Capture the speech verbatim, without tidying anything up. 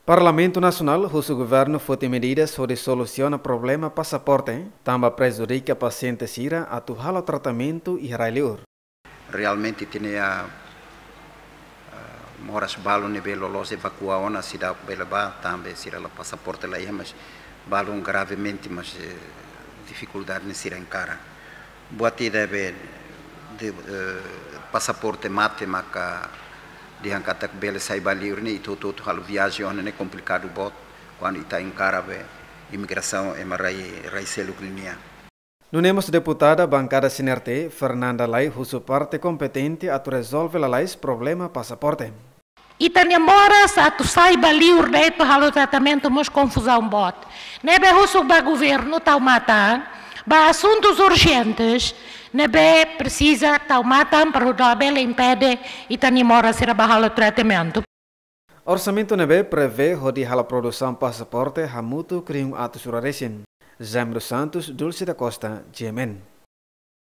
Parlamentu Nasionál husu governu foti medidas hodi solusiona problema pasaporte, tanba prejudika pasiente sira atu halo tratamentu iha rai-liur. Realmente ita-nia, ah, moras balu ne'ebé loloos evakua ona seidauk bele bá, tanba sira la pasaporte la iha, mas balun gravemente, mas, eh, difikuldade ne'e sira enkara. Buat ida be de, eh, pasaporte mate maka dehan katak bele sai ba liur ne'e, ita hotu-hotu halo viajen ona ne'e komplikadu boot, kuandu ita enkara be imigrasaun ema rai, rai seluk nian. Nune'e mós deputada bankada C N R T, Fernanda Lay husu parte kompetente atu rezolve lalais problema pasaporte. Ita-nia moras atu sai ba liur de'it halo tratamentu mós konfuzaun boot. Ne'ebé husu ba governu tau matan ba asuntus urjentes, ne'ebé presiza tau matan para hodi labele impede ita-nia moras sira ba halo tratamentu. Orsamentu ne'ebé prevee hodi halo produsaun pasaporte hamutuk rihun atus rua resin. Jaime dos Santos, Dulce da Costa, G M N.